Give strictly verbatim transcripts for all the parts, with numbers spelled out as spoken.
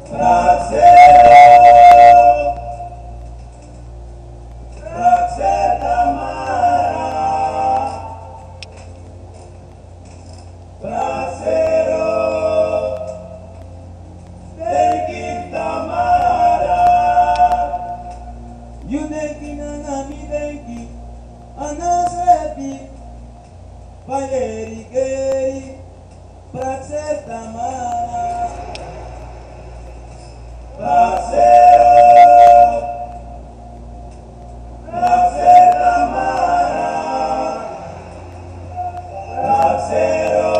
Praksero, praksero Tamara. Praksero, denki Tamara. Yu denki nanga mi denki, a no srefi. Bai leri geri, praksero Tamara. Praksero, praksero Tamara. Praksero,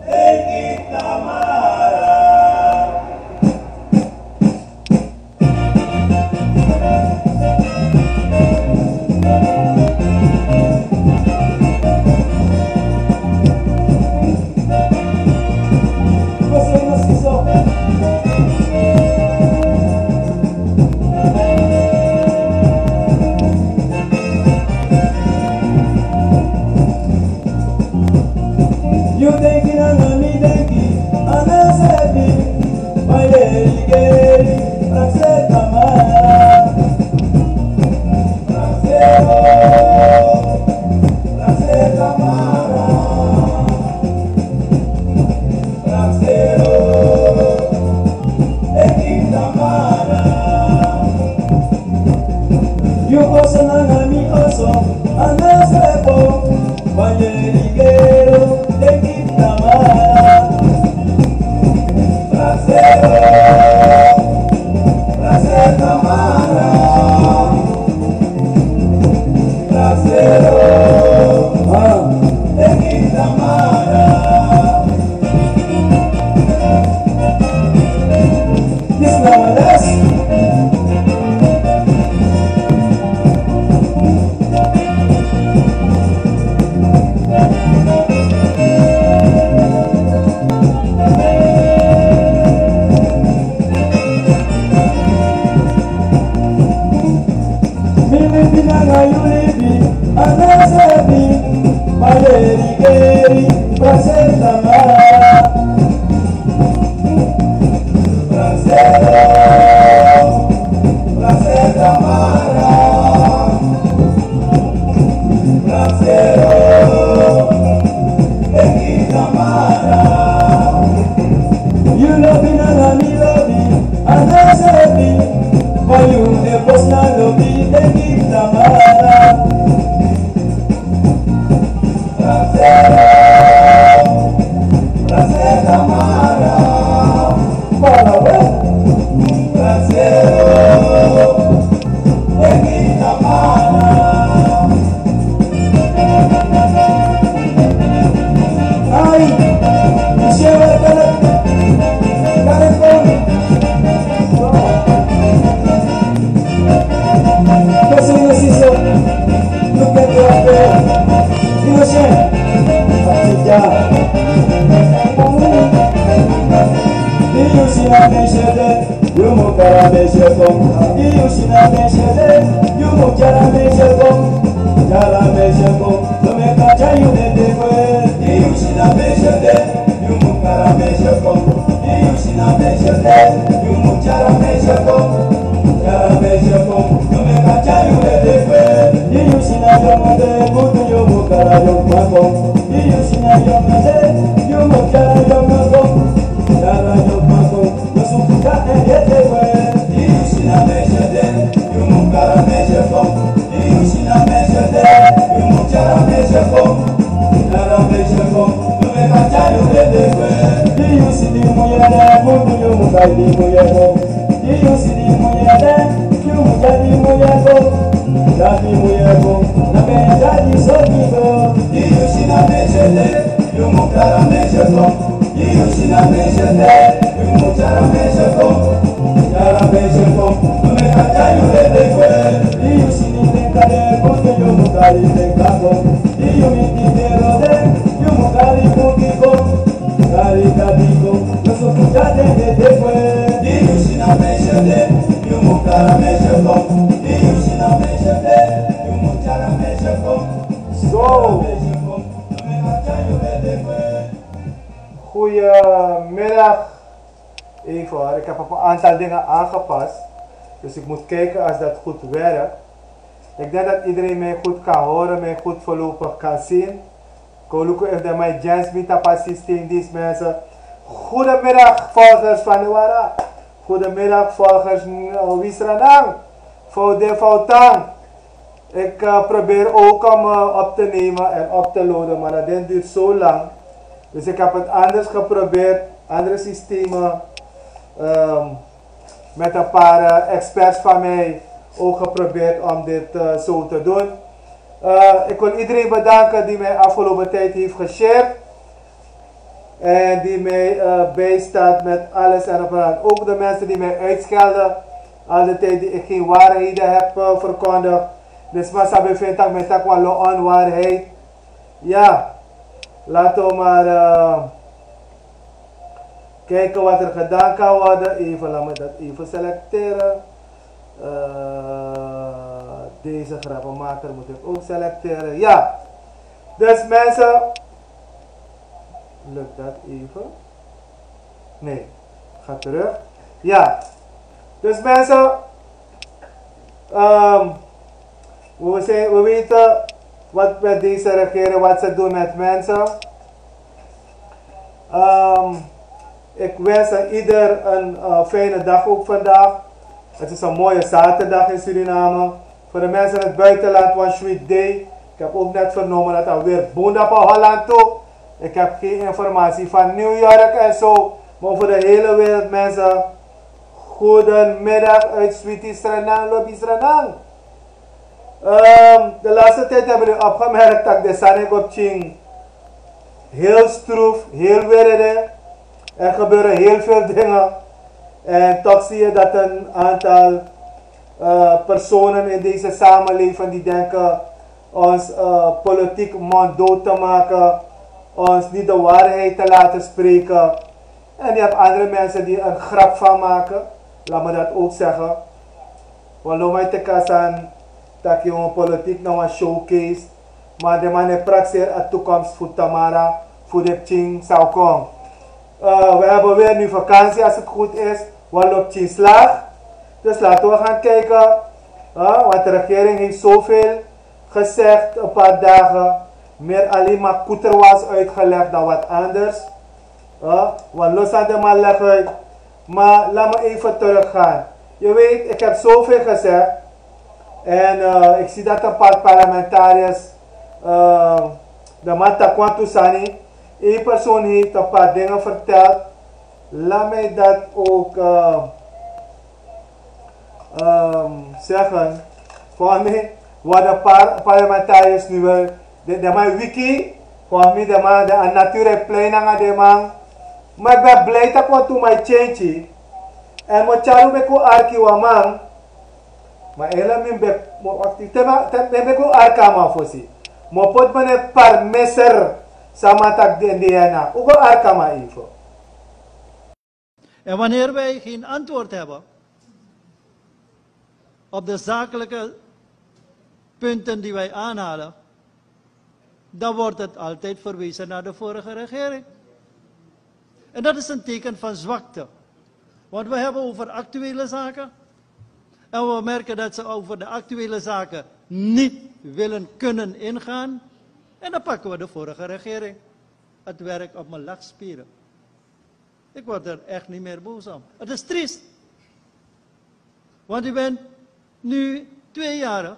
denki Tamara. Yu denki nanga mi denki, a no srefi. Bai leri geri, praksero Tamara. Praksero, praksero Tamara. Praksero, denki Tamara. Yu oso nanga mi oso, a no srefi. Bai leri geri, denki Tamara. Praksero, praksero Tamara. Praksero, ah, denki Tamara. This na my last. Mi libi nanga yu libi, a no srefi. Bai leri geri, praksero Tamara. Praksero, praksero Tamara. Praksero, denki Tamara. Yu lobi nanga mi lobi, a no srefi. Bai yu e posi na lobi, denki Tamara. Praksero, praksero Tamara. Praksero, denki Tamara. Ai, mi sere kare, kare kon. Kosi no siso, luke te ape, ino shen, atija. Yu si na mi sere, yu mu kari mi sere kon. Yu si na mi sere, yu mu kari mi sere kon. Kari mi sere kon. No meki a tyai yu dede kwe. Yu si na mi sere, yu mu kari mi sere kon. Yu si na mi sere, yu mu kari mi sere kon. Kari mi sere kon. No meki a tyai yu dede kwe. Yu si na yongo de, kutu yu mu kari yongo kon. Yu si na yongo de, yu mu kari yongo kon. Kari yongo kon. No suku ka e dede kwe. Yu si na mi sere, yu mu kari mi sere kon. Yu si na mi sere, yu mu kari mi sere kon. Kari mi sere kon, no meki a tyai yu dede kwe. Yu si di muyere, kutu yu mu kari di muyere kon. Yu si di muyere, yu mu kari di muyere kon. Kari di muyere kon, no meki a tyai di soki kon. Yu si na mi sere, yu mu kari mi sere kon. Yu si na mi sere, yu mu kari mi sere kon. Kari mi sere kon, no meki a tyai yu dede kwe. Yu si di tenka de, kutu yu mu kari tenka kon. Yu miti de rode, yu mu kari kuki kon. Kari kati kon, no suku ka e dede kwe. Yu si na mi sere, yu mu kari mi sere kon. Yu si na mi sere, yu mu kari mi sere kon. Zo. Goedemiddag. Even hoor, ik heb op een aantal dingen aangepast. Dus ik moet kijken als dat goed werkt. Ik denk dat iedereen mij goed kan horen, mij goed voorlopig kan zien. Koluku, if de my jens mi tapa systeem, deze mensen. Goedemiddag, volgers van de Wara. Goedemiddag, volgers, eh, Wisranang. Foude Foutang. Ik, eh, probeer ook om, eh, op te nemen en op te loaden, maar dat ding duurt zo lang. Dus ik heb het anders geprobeerd, andere systemen, ehm, met een paar, eh, experts van mij ook geprobeerd om dit, eh, zo te doen. Eh, ik wil iedereen bedanken die mij afgelopen tijd heeft geshared. En die mij, eh, bijstaat met alles en op en aan. Ook de mensen die mij uitschelden, al de tijd die ik geen waarheden heb, eh, verkondigd. Dus maar sabi vind ik met dat wel een onwaarheid. Ja, laten we maar, eh, kijken wat er gedaan kan worden. Even, laat me dat even selecteren. Eh, deze grappenmaker moet ik ook selecteren. Ja, dus mensen, lukt dat even? Nee, ga terug. Ja, dus mensen, ehm, we, zijn, we weten wat met deze regering, wat ze doen met mensen. Ehm, ik wens aan ieder een, eh, fijne dag ook vandaag. Het is een mooie zaterdag in Suriname. Voor de mensen in het buitenland, one sweet day. Ik heb ook net vernomen dat alweer boenda op Holland toe. Ik heb geen informatie van New York en zo. Maar over de hele wereld, mensen. Goedemiddag uit Sweetie Srenang, Lobby Srenang. Ehm, de laatste tijd hebben we opgemerkt dat de sani op Ching heel stroef, heel werede. Er gebeuren heel veel dingen. En toch zie je dat een aantal, eh, personen in deze samenleving die denken ons, eh, politiek monddood te maken, ons niet de waarheid te laten spreken. En je hebt andere mensen die een grap van maken. Laat me dat ook zeggen. Wan lo mai teki a sani taki wan politiek na wan showcase. Ma den man e prakseri a toekomst fu tamara, fu den pikin san o kon. Eh, we hebben weer nu vakantie als het goed is. Wan lo pikin slaag. Dus laten we gaan kijken. Eh, want de regering heeft zoveel gezegd, een paar dagen. Meer alleen maar koeter was uitgelegd dan wat anders. Eh, wan lo san den man leg uit. Maar laat me even teruggaan. Je weet, ik heb zoveel gezegd. En, eh, ik zie dat een paar parlementariërs, eh, de man taki wantu sani. Eén persoon heeft een paar dingen verteld. Laat mij dat ook, eh, ehm, zeggen. Voor mij worden paar parlementariërs nu wel. De, de man wiki. Voor mij de man, de natuur e plei nanga den man. Maar ik ben blij dat want to my change. En mo charu me ko arki wan man. Maar hele min bek mo wakti. Te ma, te me bek o arki a man fosi. Mo pot mene parmeser. Sama taki den de na. U go arki a man even. En wanneer wij geen antwoord hebben op de zakelijke punten die wij aanhalen, dan wordt het altijd verwezen naar de vorige regering. En dat is een teken van zwakte. Want we hebben over actuele zaken. En we merken dat ze over de actuele zaken niet willen kunnen ingaan. En dan pakken we de vorige regering het werk op mijn lachspieren. Ik word er echt niet meer boos om. Het is triest. Want u bent nu twee jaren.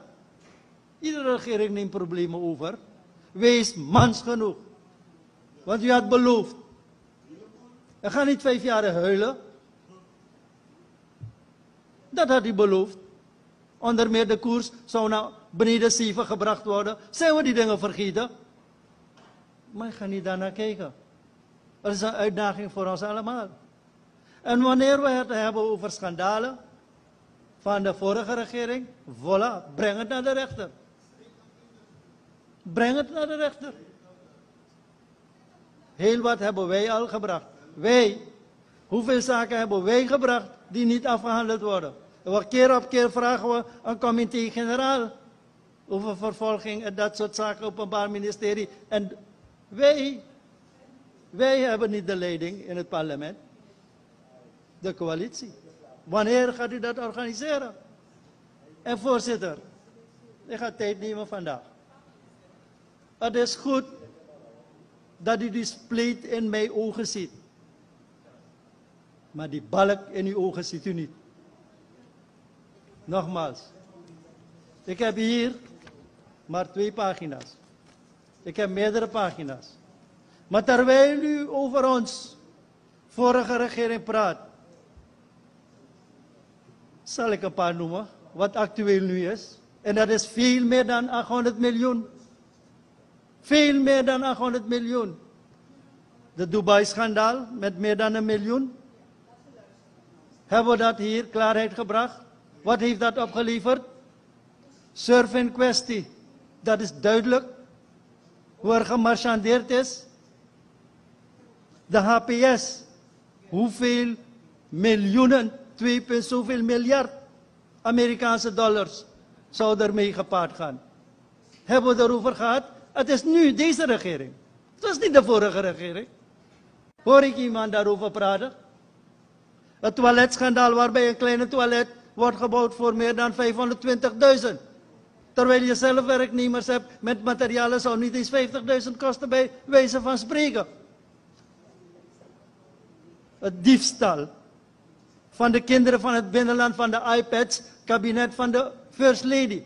Iedere regering neemt problemen over. Wees mans genoeg. Want u had beloofd. En ga niet vijf jaar huilen. Dat had u beloofd. Onder meer de koers zou naar beneden zeven gebracht worden. Zijn we die dingen vergeten? Maar ik ga niet daarnaar kijken. Het is een uitdaging voor ons allemaal. En wanneer we het hebben over schandalen van de vorige regering, voilà, breng het naar de rechter. Breng het naar de rechter. Heel wat hebben wij al gebracht. Wij. Hoeveel zaken hebben wij gebracht die niet afgehandeld worden? En we keer op keer vragen we een comité-generaal over vervolging en dat soort zaken, openbaar ministerie. En wij, wij hebben niet de leiding in het parlement. de coalitie. Wanneer gaat u dat organiseren? En voorzitter, ik ga tijd nemen vandaag. Het is goed dat u die spleet in mijn ogen ziet. Maar die balk in uw ogen ziet u niet. Nogmaals, ik heb hier maar twee pagina's. Ik heb meerdere pagina's. Maar terwijl u over ons vorige regering praat, zal ik een paar noemen wat actueel nu is. En dat is veel meer dan achthonderd miljoen. Veel meer dan achthonderd miljoen. De Dubai-schandaal met meer dan een miljoen. Hebben we dat hier klaarheid gebracht? Wat heeft dat opgeleverd? Surf in kwestie. Dat is duidelijk. Hoe er gemarchandeerd is. De H P S. Hoeveel miljoenen, twee punt zoveel miljard Amerikaanse dollars zou ermee gepaard gaan? Hebben we daarover gehad? Het is nu deze regering. Het was niet de vorige regering. Hoor ik iemand daarover praten? Het toiletschandaal waarbij een kleine toilet wordt gebouwd voor meer dan vijfhonderdtwintigduizend. Terwijl je zelf werknemers hebt met materialen zou niet eens vijftigduizend kosten bij wijze van spreken. Het diefstal van de kinderen van het binnenland van de iPads, kabinet van de First Lady.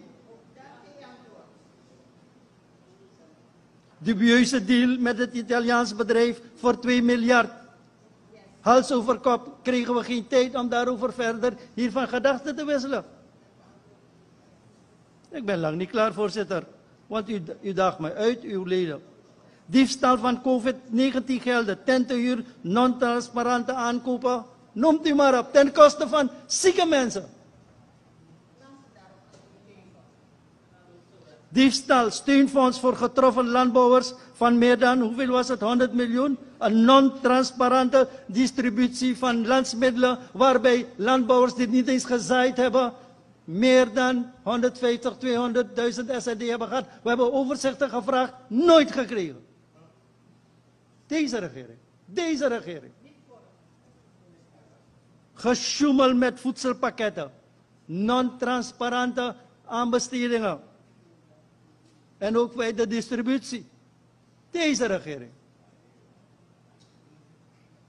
Dubieuze deal met het Italiaans bedrijf voor twee miljard. Hals over kop kregen we geen tijd om daarover verder hiervan gedachten te wisselen. Ik ben lang niet klaar, voorzitter. Want u, u daagt mij uit, uw leden. Diefstal van covid negentien gelden, tentenhuur, non-transparante aankopen. Noemt u maar op, ten koste van zieke mensen. Diefstal, steunfonds voor getroffen landbouwers van meer dan, hoeveel was het, honderd miljoen. Een non-transparante distributie van landsmiddelen, waarbij landbouwers die niet eens gezaaid hebben, meer dan honderdvijftig, tweehonderdduizend S R D hebben gehad. We hebben overzichten gevraagd, nooit gekregen. Deze regering, deze regering. Gesjoemel met voedselpakketten, non-transparante aanbestedingen en ook bij de distributie. Deze regering.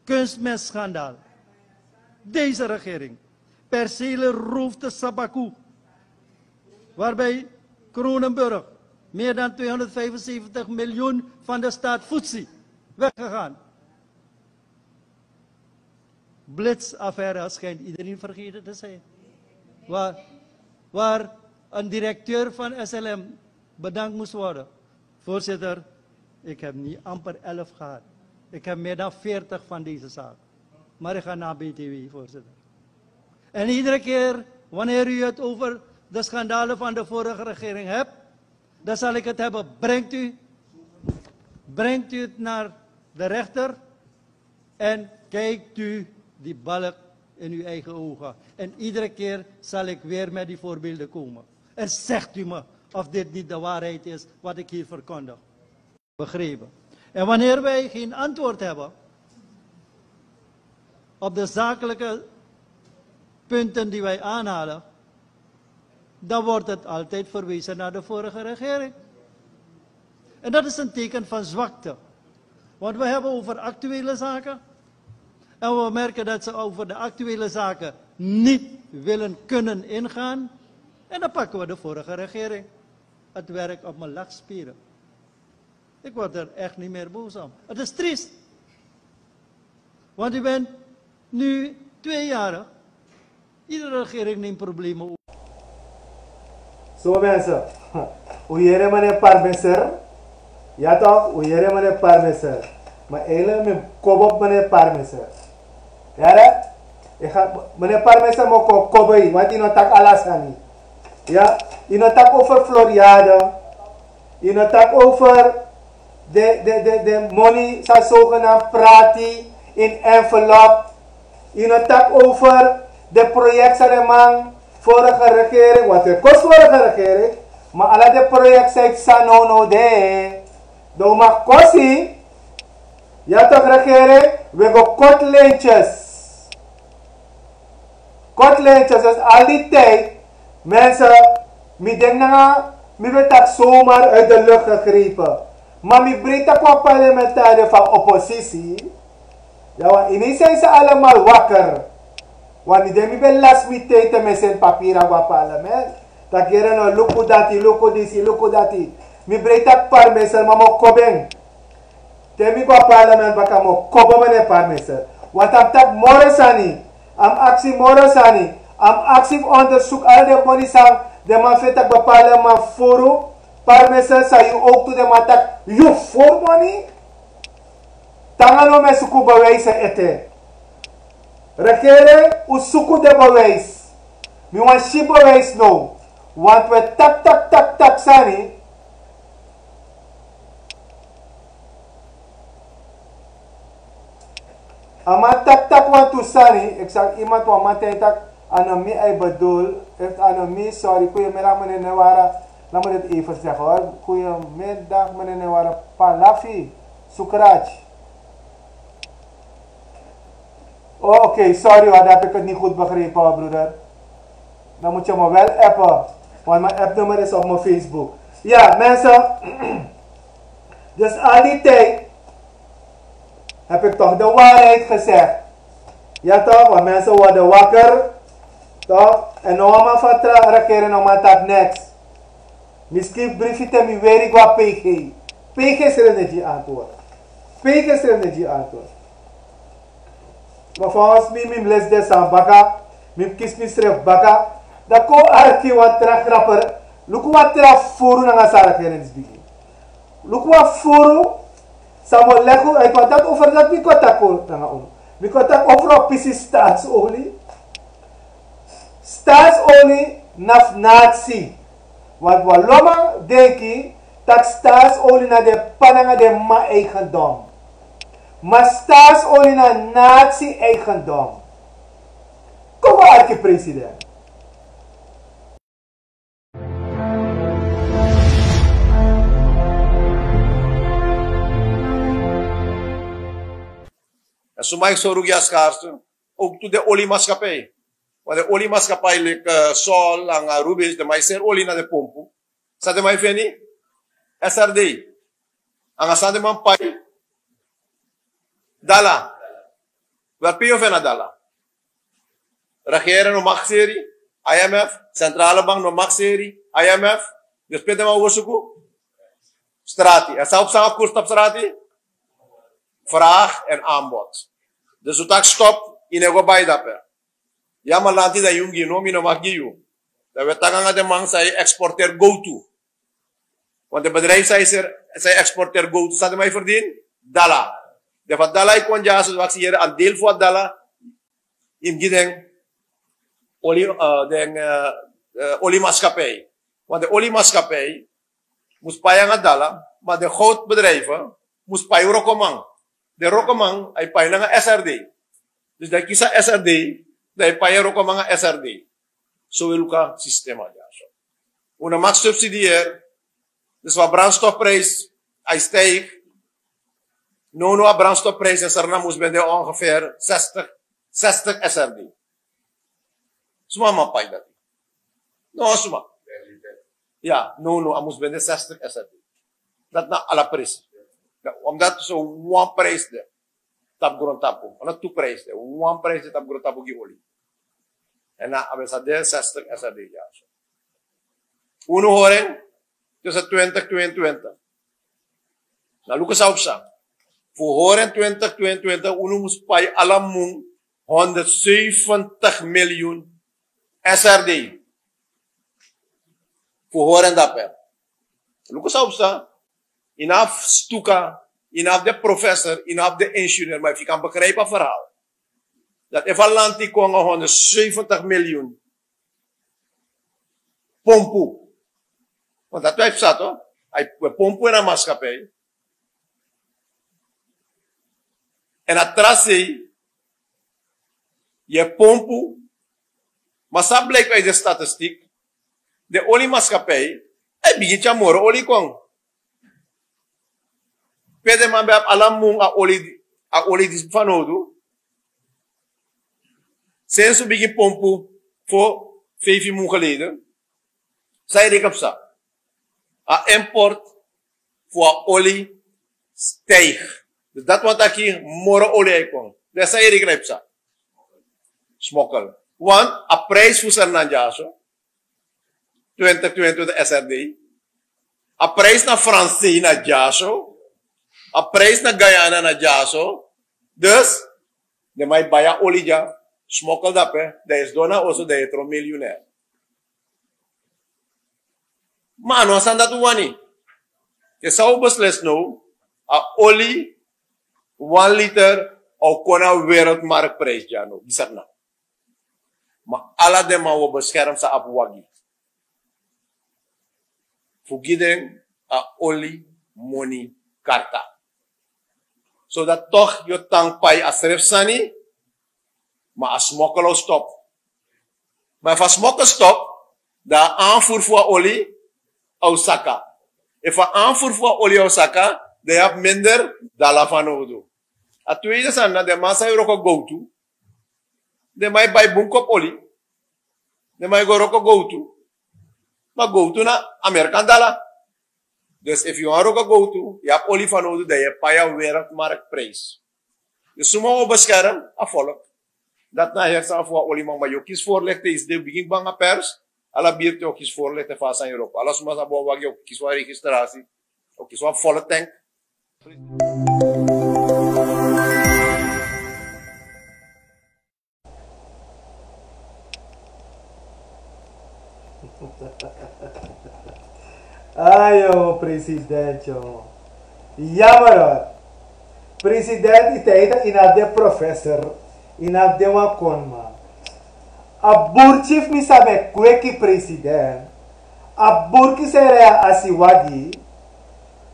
Kunstmestschandaal. Deze regering. Percelen roofde Sabaku, waarbij Kronenburg meer dan tweehonderdvijfenzeventig miljoen van de staat Futsi weggegaan. Blitzaffaire schijnt iedereen vergeten te zijn. Waar, waar een directeur van S L M bedankt moest worden. Voorzitter, ik heb niet amper elf gehad. Ik heb meer dan veertig van deze zaak. Maar ik ga naar B T W, voorzitter. En iedere keer wanneer u het over de schandalen van de vorige regering hebt, dan zal ik het hebben. Brengt u, brengt u het naar de rechter en kijkt u die balk in uw eigen ogen. En iedere keer zal ik weer met die voorbeelden komen. En zegt u me of dit niet de waarheid is wat ik hier verkondig. Begrepen. En wanneer wij geen antwoord hebben op de zakelijke punten die wij aanhalen, dan wordt het altijd verwezen naar de vorige regering. En dat is een teken van zwakte. Want we hebben over actuele zaken. En we merken dat ze over de actuele zaken niet willen kunnen ingaan. En dan pakken we de vorige regering het werk op mijn lak spelen. Ik word er echt niet meer boos om. Het is triest. Want u bent nu tweejarig. Iedere regering neemt problemen op. So mensen, u yere meneer Parmeser? Ja toch, u yere meneer Parmeser. Maar eigenlijk mi kobo op meneer Parmeser. Yere? Meneer Parmeser, mi o kon kobo yu, want yu no taki ala sani. Ya, yu no taki over Floriade. Yu no taki over de, de, de, de money san zogenaamd prati in envelop. Yu no taki over de project san de man vorige regering, want het kost vorige regering, maar ala de project san yu san no no de. Dan un mag kosi. Ya toch regering, we go kort lijntjes. Kort lijntjes, dus al die tijd, mensen, mi denk nanga, mi ben taki zomaar uit de lucht gegrepen. Maar mi breed taki wan parlementariër van oppositie. Ja, want ineens zijn ze allemaal wakker. Want mi denk mi ben last mi tijd en mi send papier aan wan parlement. Taki yere no, luku dati, luku disi, luku dati. Mi breed taki parlement, maar mi o kobeng. Te mi go a parlement baka mi o kobo mi na parmeser. Want a mus taki moro sani. A mus aksi moro sani. A mus aksi fu onderzoek ala den moni san den man feni taki bepaalde man furu. Parmeser san yu ook tu den man taki yu furu moni. Te nanga no mi e suku bewijs ete. Regering, un suku den bewijs. Mi wani si bewijs now. Want we taki taki taki taki sani. A man taki taki wantu sani, exact, iemand wan man taki taki, a no mi a e bedoel, efu a no mi, sorry, goeiemiddag meneer Newara, laat me dit even zeggen hoor. Goeiemiddag meneer Newara, Palafi, Sukraj. Oh, oké, sorry hoor, dan heb ik het niet goed begrepen hoor, broeder. Dan moet je me wel appen, want mijn appnummer is op mijn Facebook. Ja, mensen, dus al die tijd heb ik toch de waarheid gezegd. Ja toch, want mensen worden wakker, toch? En no man vertrouwen regering, no man taki niks. Mi skrifi brifi te mi weri go na P G. P G srefi no e gi antwoord. P G srefi no e gi antwoord. Maar volgens mi, mi mus lesi den sani baka, mi mus kisi misrefi baka. Dan kon arki wan tra grapper. Luku wan tra furu nanga san regering disi bigin. Luku wan furu, san mi o leki unu uit, want dati over dati mi kon taki nanga unu. Mi kon taki over wan pisi staatsolie. Staatsolie na fu natie. Want wan lo man denki taki staatsolie na den p'pa nanga den m'ma eigendom. Maar staatsolie na natie eigendom. Kon go arki president. En suma e sori unu gi a schaarste, ook tu den oliemaatschappij. Want den oliemaatschappij leki, eh, Sol nanga Rubis, den man e seri olie na den pompu. San den man e feni? S R D. Nanga san den man pai? Dala. Wel, pe yu o feni a dala? Regering no mag seri, I M F, centrale bank no mag seri, I M F. Dus pe den man o go suku? Strati. En san o psa nanga koers tapu strati? Vraag en aanbod. Dus un taki stop, yu no e go bai dape. Ya, ma lanti, dan yu mus gi, no, mi no mag gi yu. Dan wi e taki nanga den man san e exporteer gowtu. Want den bedrijf san e ser-, san e exporteer gowtu, san den man e verdien? Dala. Den fu a dala e kon dyaso, wi aksi yere a deel fu a dala yu mus gi den oli-, eh, den, eh, eh, oliemaatschappij. Want den oliemaatschappij mus pai nanga dala, maar den goudbedrijven mus pai wrokoman. Den wrokoman, a e pai nanga S R D. Dus dan yu kisi a S R D, dan yu pai a wrokoman nanga S R D. So wi e luku a systeem dyaso. Un no mag subsidieer. Dus wan brandstofprijs, a e stijg. Now now a brandstofprijs in Sranan mus ben de ongeveer zestig, zestig S R D. Suma man pai dati? No, suma. Ya, now now a mus ben de zestig S R D. Dati na ala prijs. Ya, omdat so wan prijs de tapu grontapu. A no tu prijs de. Wan prijs de tapu grontapu gi oli. En na a ben sa de zestig S R D dyaso. Un no hori en tussen twintig tweeëntwintig. Na luku san o psa. Fu hori en twintig tweeëntwintig, un no mus pai ala mun honderdzeventig miljoen S R D. Fu hori en dape. Luku san o psa. Yu no abi stuka, yu no abi de professor, yu no abi de ingenieur, maar efu yu kan begrijpen a verhaal. Dat efu a lanti kon nanga honderdzeventig miljoen pompu. Want dati wi e psa toch? A e pompu in a maatschappij. En a tra sei, yu e pompu, maar san blijkt uit de statistiek, de oliemaatschappij, a e bigin tyari moro oli kon. Pe den man ben abi ala mun a oli, a oli disi fanowdu. Sensi un bigin pompu, Voor vijf maanden geleden, san yu reken psa, a import fu a oli stijg. Dus dat wani taki moro oli e kon. Dus san yu reken psa, smokkel. Want a prijs fu Sernanjaso, twintig twintig de S R D, a prijs na Fransei na dyaso, a prijs na Guyana na dyaso. Dus den man e bai a oli dya, smokkel dape, dan yu sidon na oso, dan yu e tron miljonair. Ma a no a sani dati un wani. Yu san un beslis now, a oli, wan liter, a o kon na wereldmarktprijs dya now, bisakna. Ma ala den man wi o beskerm san abi wagi, fu gi den a oli moni karta. Zodat toch yu o tan pai a srefi sani, ma a smokkel o stop. Ma efu a smokkel stop, dan a aanvoer fu a oli a o saka. Efu a aanvoer fu a oli a o saka, dan yu abi minder dala fanowdu. A tweede sani na den man san e wroko gowtu. Den man e bai bun kopu oli. Den man e go wroko gowtu. Ma gowtu na Amerikan dala. Dus efu yu wani wroko gowtu, yu abi oli fanowdu, dan yu e pai a wereldmarktprijs. Dus suma wi o beskerm? A volk. Dati na a heri sani fu a oliman. Ma yu o kisi voorlichting, yu sidon bigin banga pers. Ala birti o kisi voorlichting fu a sani wroko. Ala suma san abi wan wagi o kisi wan registratie, o kisi wan volle tank. Ayo, president, yo. Jammer, hoor. President, yu taigi taki yu no abi den professor, yu no abi den wan konman. A burki, fu mi sabi, e kweki, president. A burki san e rij a asiwagi,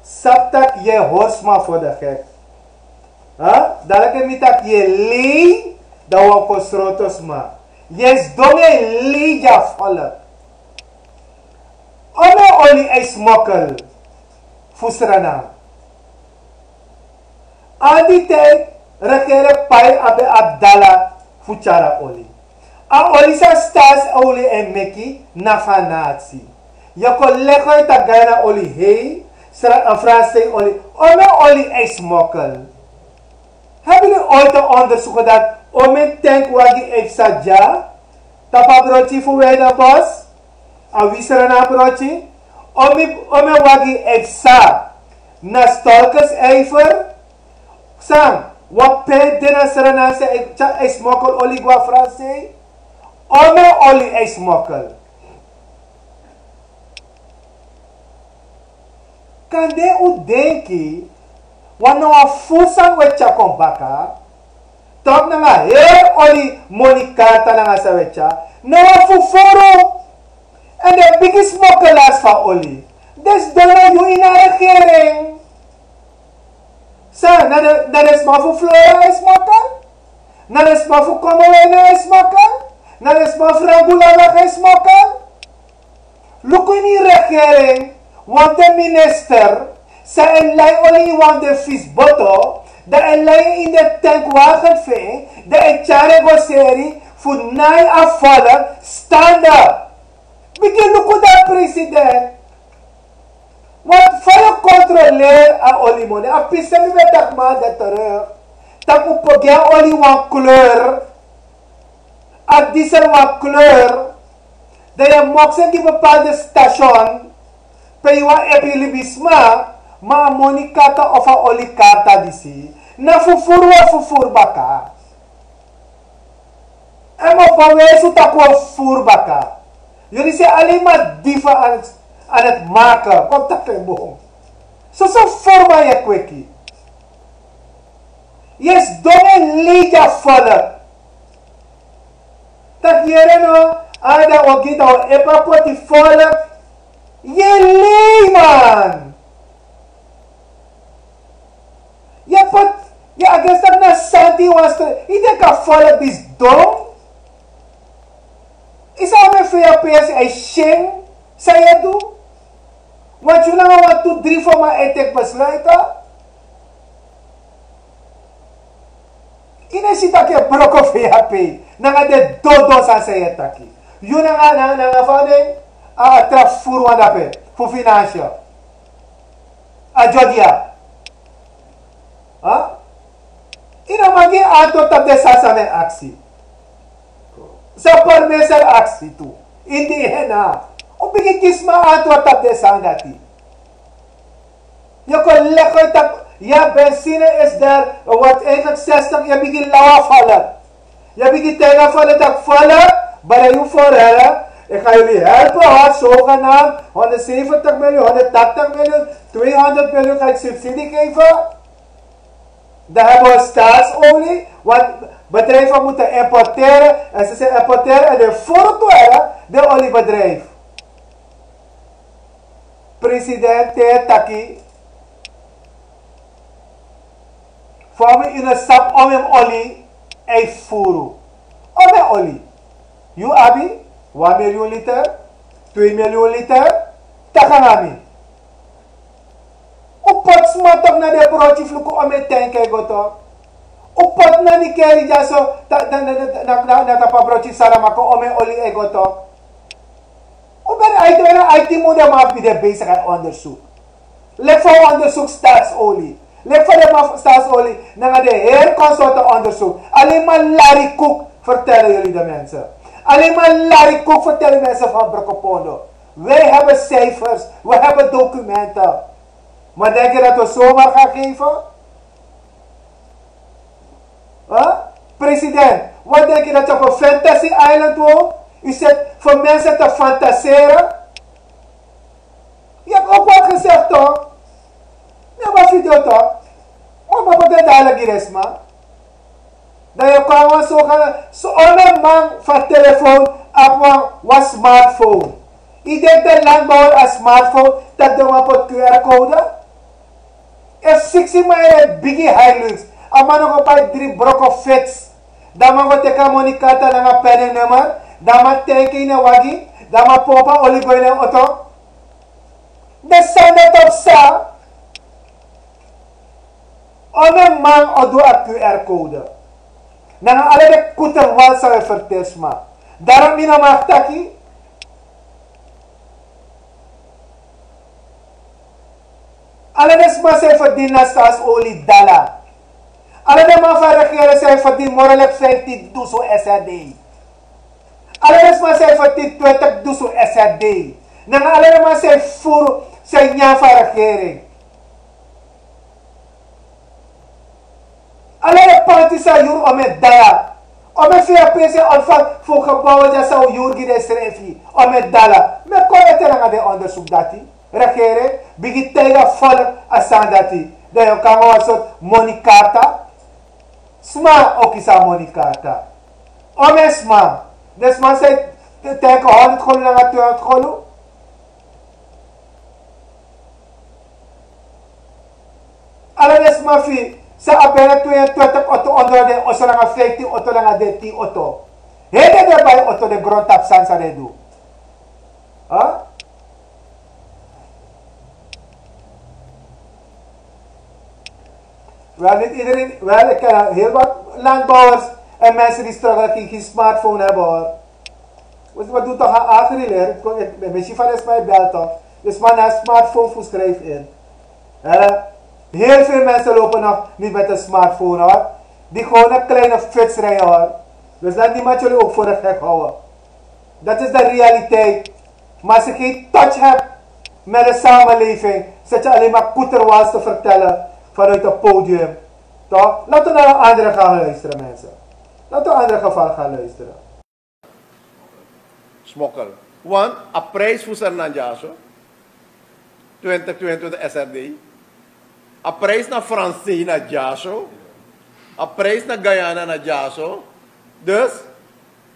sabi taki yu e hori sma voor de gek. Hè? Dati leki mi taki yu e lei, dan wi o kon sroto sma. Yu e sidon e lei gi a volk. Omeni oli e smokkel fu Sranan. Al di tij regering pai abi a dala fu tyari a oli. A oli san Staatsolie e meki na fu a nasi. Yu o kon legi uit taki Guyana oli hei, Sra-, eh, Fransei oli. Omeni oli e smokkel. Hebben jullie ooit een onderzoek gedaan? Omeni tankwagi e psa dya tapu a broti fu Wijdenbosch, a wi Sranan broti. Omeni, omeni wagi e psa na Stolkesijver. San, wan pe de na Sranan san e, san e smokkel oli go na Fransei. Omeni oli e smokkel. Kande un denki wan na wan furu sani un e tyari kon baka. Taki nanga heri oli moni karta nanga san un e tyari, na wan fufuru. Èn den bigi smokkelaars fu a oli, den sidon na yu ini a regering. San, na den, na den sma fu Flora e smokkel? Na den sma fu Komowena e smokkel? Na den sma fu Rangulala e smokkel? Luku ini regering, wan fu den minister san e lai oli ini wan fu den fisi boto, dan e lai en ini den tankwagen fu en, dan e tyari en go seri fu nai a volk standa. Bigin luku dan, president. Want fa yu o kontroleri a olimoni? A pisi san mi ben taki maandag terug, taki un poti gi a oli wan kleur, a diesel wan kleur, dan yu e moksen gi bepaalde station pe yu wani epi libisma, ma a moni karta of a oli karta disi na fufuru wi e fufuru baka. Èn mi o bewijs un taki wi o fufuru baka. Yu disi e alleen maar dieven aan het, aan het maken. Kon taki en boom. Soso fufuru man yu e kweki. Yu e sidon e lei gi a volk. Taki yere no, a dan wi o gi dan wi o epi a poti volk. Yu e lei man. Yu e poti, yu e agesi taki na santi wan stro. Yu denki a volk disi dom? Yu sabi omeni fei a pesi e syen san yu e du? Want yu nanga wan tu dri fu man e teki besluiten. Yu no e si taki yu e broko fei a pei nanga den dodo sani san yu e taki. Yu nanga nanga nanga fa den a tra furu wan dape fu finansi. A jodia. Yu no man gi antwoord tapu den sani san mi e aksi. San permeser aksi tu. Ini di hena un bigin gi sma antwoord tapu den sani dati. Yu kon legi uit dat. Ya, benzine is daar. Wat eigenlijk zestig, yu bigin lawa fala. Yu bigin teiga fala, dat fala. Bada yu vorhele. Ik ga jullie helpen hoor, zogenaamd honderdzeventig miljoen, honderdtachtig miljoen, tweehonderd miljoen ga ik subsidie geven. Dan hebben we staatsolie, want bedrijven moeten importeren en ze zijn importeren en de voordelen de oliebedrijf. President te taki. Fa mi ini sap omen oli e furu. Omen oli. Yu abi wan miljoen liter, twee miljoen liter. Taki nanga mi. Un poti sma tok na den broti fu luku omen tanki e go tok. Un poti na nikeri dyaso. Na tapu a broti saramako omen oli e go tok. Un ben aiti ben aiti mun den man fu mi den besigi a ondersuk. Leki fa un ondersuk staatsolie. Leki fa den man fu staatsolie nanga den heri konsorten ondersuk. Alleen maar lari koek vertellen jullie de mensen. Alleen maar lari koek vertellen mensen van Brokopondo. Wij hebben cijfers, we hebben documenten. Maar denk je dat we zomaar gaan geven? President, wat denk je dat je op een fantasy island woont? U zit voor mensen te fantaseren. Je hebt ook wat gezegd toch? Ne ba video toch? Mo ba pata dala giresma. Dan yu kon wan so kan so omen man fu a telefoon abi wan smartphone. Yu denki den landbouwer a smartphone taki den man poti QR code? Efu siksi man e redi bigi Hilux, a man no go bai dri broko fits. Dan man go teki a moni karta nanga pene nummer. Dan man tenki ini en wagi. Dan man pompu a oli go ini en oto. Den sani dati o psa. Omen man o du a QR code nanga ala den kuterwal san wi e ferteri sma. Darom mi no man taki. Ala den sma san e ferdini na staatsolie dala. Ala den man fu a regering san e ferdini moro leki vijftiendusun srd. Ala den sma san e ferdini twintigdusun srd. Nanga ala den man san e furu san e nyan fu a regering. Ala den panti san yuru omen daya. Omen fia pese ontfang fu gebouwen dya san un yuru gi den srefi omen dala. Mi e kon ete nanga den ondersuk dati. Regering bigin taiga volk a sani dati. Dan yu kan go wan sortu moni karta. Sma o kisi a moni karta. Omen sma. Den sma san e taiga honderd golu nanga tweehonderd golu. Ala den sma fu yu san abi bina tweeëntwintig oto ondro den oso nanga vijftien oto nanga dertien oto. Heri den ben bai oto den grontapu sani san den du. Wel, niet iedereen, wel, ik ken heel wat landbouwers en mensen die struggelen, die geen smartphone hebben hoor. We doen toch aan agri-leer. Misschien van de sma e bel toch. Dus maar naar smartphone voor schrijf in. Heel veel mensen lopen nog niet met een smartphone hoor. Die gewoon een kleine fiets rijden hoor. Dus laat niemand jullie ook voor de gek houden. Dat is de realiteit. Maar als je geen touch hebt met de samenleving, zit je alleen maar koeterwals te vertellen vanuit het podium. Toch? Laten we naar een andere gaan luisteren, mensen. Laten we een andere geval gaan luisteren. Smokkel. Want a prijs fu Sernanjaso twintig tweeëntwintig S R D. A prijs na Fransei na dyaso. A prijs na Guyana na dyaso. Dus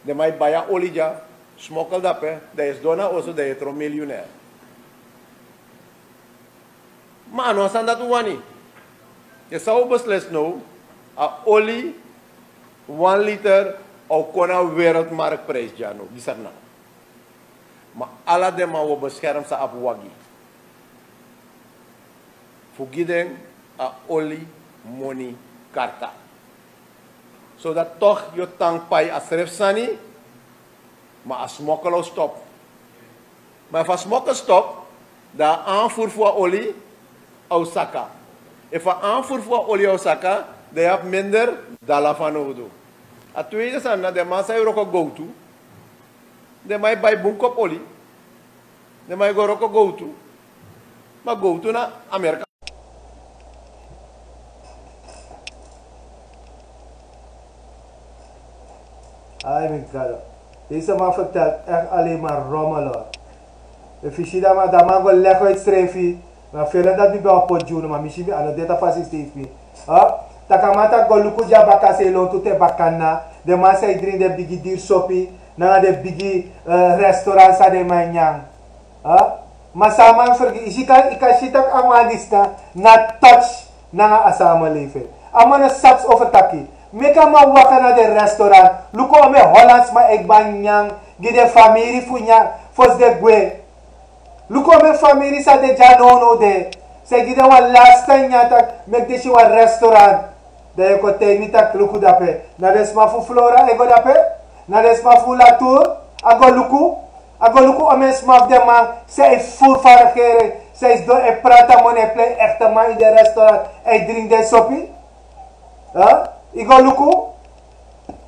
den man e bai a oli dya. Smokkel dape, dan yu sidon na oso, dan yu e tron miljonair. Ma a no a sani dati un wani. Yu san un beslisi now? A oli wan liter o kon na wereldmarktprijs dya now gi Sranan. Ma ala den man wi o beskerm san abi wagi fu gi den a oli moni karta. Zodat toch yu o tan pai a srefi sani. Ma a smokkel o stop. Ma efu a smokkel stop, dan a anfuru fu a oli o saka. Efu a anfuru fu a oli o saka, dan yu abi minder dala fanowdu. A tweede sani na den man san e wroko gowtu. Den man e bai bun kopu oli. Den man e go wroko gowtu. Ma gowtu na Amerika. Ai mi gado. Deze man vertelt echt alleen maar rommel, hoor. Efu yu si dat man, dat man go leg uit schrijfi. Na felen dat mi ben op pot junu, ma mi si mi ano deta fasi steeds mi. Taki a man taki go luku di a baka sei lontu te bakana. Den man san e dringi den bigi diri sopi nanga den bigi restaurant san den man e nyan. Ma san a man fergiti, yu si kan, yu kan si taki a man disi na, na touch nanga a samenleving. A man no sabi over taki. Meki a man waka na den restaurant. Luku omeni Hollandsman e kba nyan gi den famiri fu nyan fosi den gwe. Luku omeni famiri san de dya nownow de. San e gi den wan lasta nyan taki meki den si wan restaurant. Dan yu kon taigi mi taki luku dape. Na den sma fu Flora e go dape. Na den sma fu Latour. A go luku. A go luku omeni sma fu den man san e furu fu a regering, san e sidon e prati a moni, e plei ekte man ini den restaurant, e dringi den sopi. Yu go luku.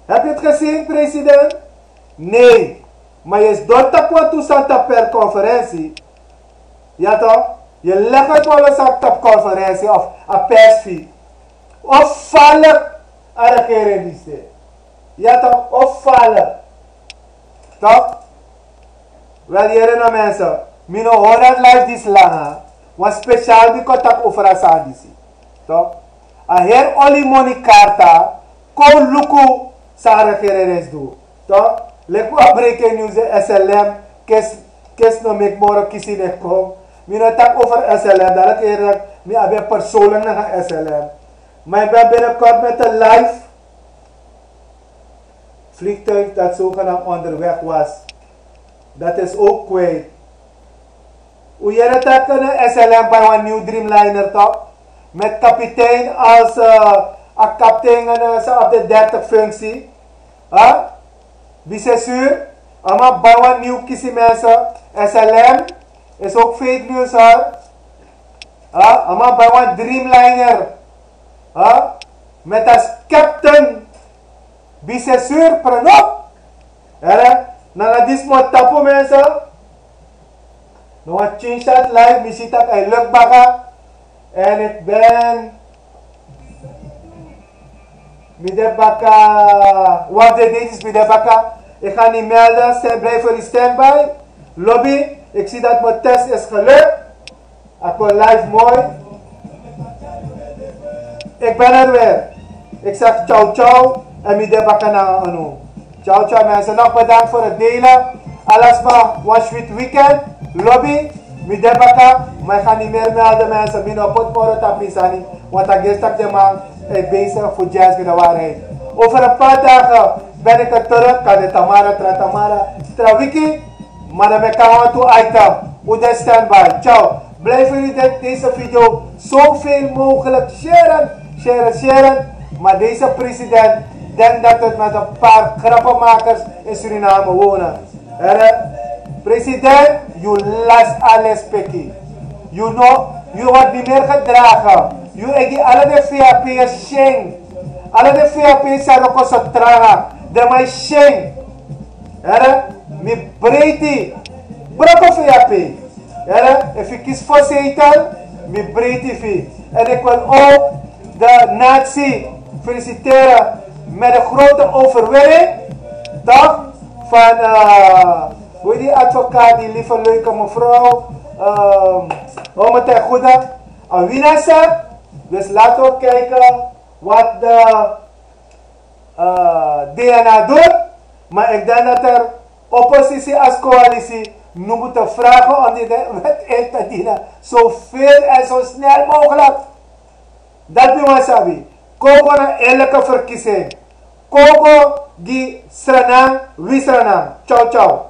Heb yu het gezien, president? Nee. Ma yu sidon tapu wantu santa per konferensi. Ya toch? Yu leg uit wan lo santa per konferensi of a persfi. Of falik a regering disi. Ya toch? Of falik. Toch? Wel, yere na mensen. Mi no hori dat live disi langa. Wan speciaal mi kon taki over a sani disi. Toch? A heri oli moni karta. Kon luku san a regering reeds du. Toch? Leki wan breaking news de S L M. Kesi, kesi no meki moro kisi ne kon. Mi no taki over S L M. Dadelijk heri mi abi persoonlijk nanga S L M. Maar ik ben binnenkort met een live vliegtuig dat zogenaamd onderweg was. Dat is ook kwijt. Un yere taki na S L M bai wan nieuw Dreamliner toch? Met kapitein als a kapitein en sa op de dertig functie. Huh? Bisesur, a man bai wan nieuw kisi mensen. S L M is ook fake news, hoor. Huh? A man bai wan Dreamliner. Huh? Met als captain Bisesur Pranop. Here, nanga disi mi o tapu mensen. No wan tien shot live, mi si taki a e luk baka. En ik ben, mi de baka, wan fu den dei disi mi de baka. Ik ga niet melden, blijf voor die standby. Lobby, ik zie dat mijn test is gelukt. A kon live moi. Ik ben er weer. Ik zeg ciao ciao en mi de baka nanga unu. Ciao ciao mensen, nog bedankt voor het delen. Alasma, wan sweet weekend. Lobby, mi de baka. Maar ik ga niet meer melden mensen. Mi no poti moro tapu mi sani. Want a gesi taki den man e bezig fu dyansi gi den waarheid. Over een paar dagen ben ik er terug. Kan de Tamara, tra Tamara, tra wiki. Maar dan ben ik aan toe item. Hoe de standby. Ciao. Blijf jullie dit, deze video zoveel mogelijk sharen, sharen, sharen. Maar deze president denkt dat het met een paar grappenmakers in Suriname wonen. Here, president, you last alles peki. You know, you wordt niet meer gedragen. You egi alle de V H P'ers sheng. Alle de V H P'ers zijn ook zo traga. De man sheng. Here, mi breiti. Broko V H P. Here, efu yu kisi voorzitter, mi breiti fi. En ik wil ook de natie feliciteren met de grote overwinning. Toch? Van, eh, hoe heet die advocaat, die lieve leuke mevrouw? Ehm, hoe moet hij goed? Awinasa. Dus laten we kijken wat de eh, D N A doet, maar ik denk dat er oppositie als coalitie nu moeten vragen om die wet in te dienen. Zo veel en zo snel mogelijk. Dat mi wani sabi. Kon go na eerlijke verkiezing. Kon go gi Sranan, wi Sranan. Ciao, ciao.